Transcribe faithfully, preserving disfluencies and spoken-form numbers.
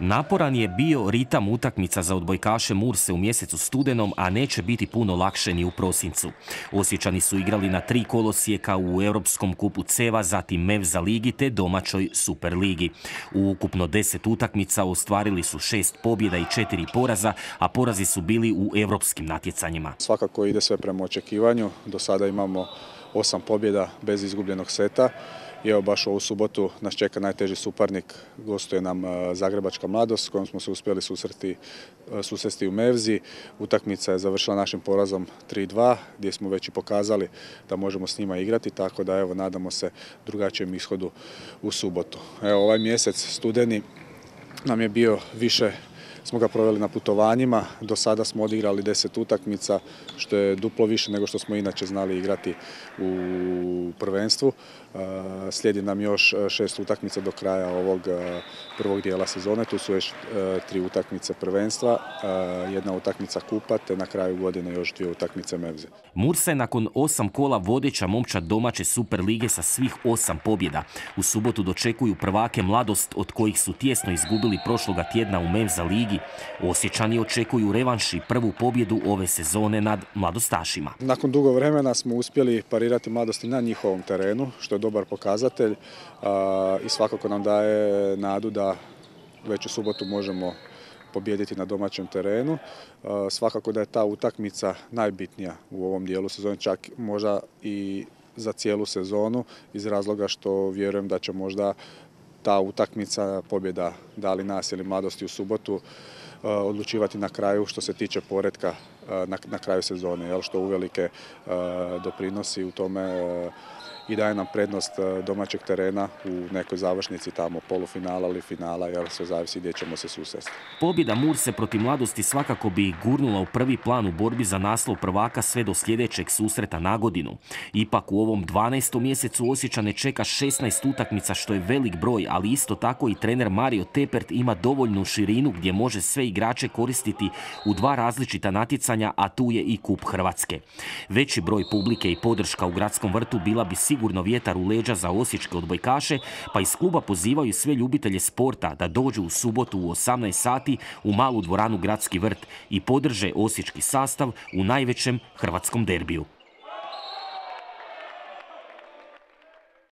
Naporan je bio ritam utakmica za odbojkaše Murse u mjesecu studenom, a neće biti puno lakše ni u prosincu. Osječani su igrali na tri kolosijeka u Europskom kupu Ceva, zatim Mevza ligi te domaćoj Super ligi. U ukupno deset utakmica ostvarili su šest pobjeda i četiri poraza, a porazi su bili u europskim natjecanjima. Svakako ide sve prema očekivanju. Do sada imamo osam pobjeda bez izgubljenog seta. I evo baš ovu subotu nas čeka najteži suparnik, gostuje nam Zagrebačka Mladost s kojom smo se uspjeli susreti, susresti u Mevzi. Utakmica je završila našim porazom tri dva gdje smo već i pokazali da možemo s njima igrati, tako da evo nadamo se drugačijem ishodu u subotu. Evo ovaj mjesec studeni nam je bio više, smo ga proveli na putovanjima, do sada smo odigrali deset utakmica, što je duplo više nego što smo inače znali igrati u prvenstvu. Slijedi nam još šest utakmica do kraja ovog prvog dijela sezone, tu su još tri utakmice prvenstva, jedna utakmica kupa, te na kraju godine još dvije utakmice Mevze. Mursa je nakon osam kola vodeća momčad domaće Super lige sa svih osam pobjeda. U subotu dočekuju prvake Mladost, od kojih su tjesno izgubili prošloga tjedna u Mevza ligi. Osječani očekuju revanš i prvu pobjedu ove sezone nad mladostašima. Nakon dugo vremena smo uspjeli parirati Mladosti na njihovom terenu, što je dobar pokazatelj i svakako nam daje nadu da već u subotu možemo pobijediti na domaćem terenu. Svakako da je ta utakmica najbitnija u ovom dijelu sezone, čak možda i za cijelu sezonu, iz razloga što vjerujem da će možda ta utakmica, pobjeda da li nas ili Mladosti u subotu, odlučivati na kraju što se tiče poretka na, na kraju sezone, jel, što uvelike doprinosi u tome i daje nam prednost domaćeg terena u nekoj završnici tamo polufinala ili finala, jer sve zavisi gdje ćemo se susresti. Pobjeda Murse protiv Mladosti svakako bi gurnula u prvi plan u borbi za naslov prvaka sve do sljedećeg susreta na godinu. Ipak u ovom dvanaestom mjesecu Osječane čeka šesnaest utakmica, što je velik broj, ali isto tako i trener Mario Tepert ima dovoljnu širinu gdje može sve igrače koristiti u dva različita natjecanja, a tu je i Kup Hrvatske. Veći broj publike i podrška u Gradskom vrtu bila bi sigurno sigurno vjetar u leđa za osječke odbojkaše, pa iz kluba pozivaju sve ljubitelje sporta da dođu u subotu u osamnaest sati u malu dvoranu Gradski vrt i podrže osječki sastav u najvećem hrvatskom derbiju.